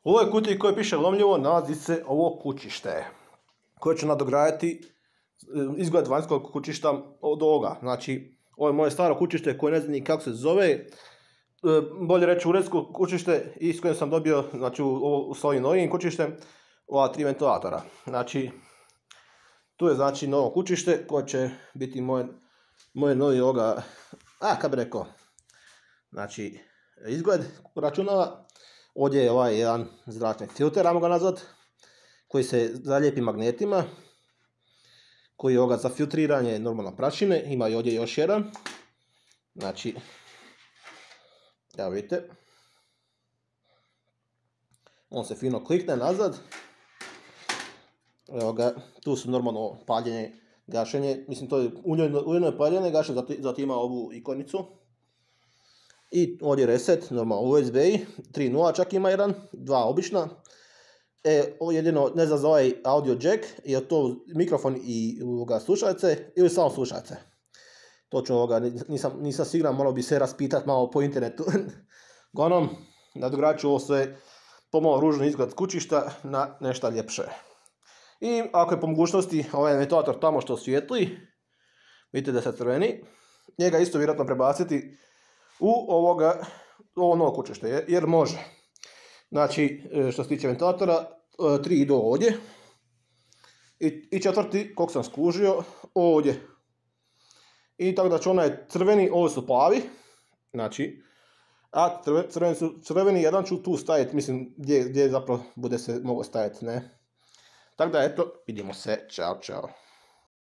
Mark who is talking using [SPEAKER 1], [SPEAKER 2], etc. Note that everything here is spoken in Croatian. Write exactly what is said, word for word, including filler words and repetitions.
[SPEAKER 1] U ovoj kutiji koje piše lomljivo nalazi se ovo kućište koje ću nadograditi izgled vanjskog kućišta od ovoga. Znači, ovo je moje staro kućište koje ne znam ni kako se zove, bolje reći uredsko kućište i s kojim sam dobio, znači, u, s ovim novim kućištem ova tri ventilatora. Znači, tu je znači novo kućište koje će biti moj, moj novi ovoga, a kad bi rekao, znači, izgled računala. Ovdje je ovaj jedan zračni filter, ajmo ga nazvat, koji se zalijepi magnetima, koji je ovoga za filtriranje normalno prašine. Ima i ovdje još jedan. Znači, evo vidite, on se fino klikne nazad. Evo ga, tu su normalno paljenje, gašenje, mislim to je uljeno je paljenje, gašenje, zatim ima ovu ikonicu. I ovdje je reset, normalno U S B tri nula čak ima jedan, dva obična. E, ovo jedino, ne znam za ovaj audio jack, je to mikrofon i ovoga slušalice ili samo slušalice. Točno ovoga, nisam, nisam siguran, morao bi se raspitati malo po internetu. Uglavnom, nadogradit ću ovo sve pomalo ružno izgled kućišta na nešto ljepše. I ako je po mogućnosti ovaj ventilator tamo što svijetli, vidite da se crveni, njega isto vjerojatno prebaciti u ovoga, ovo novo kućište, jer može. Znači, što se tiče ventilatora, tri idu ovdje i, i četvrti, koliko sam skužio, ovdje. I tako da će onaj crveni, ovo su plavi, znači, a crveni, su, crveni jedan ću tu staviti, mislim, gdje, gdje zapravo bude se mogo staviti, ne. Tako da, eto, vidimo se, čao, čao.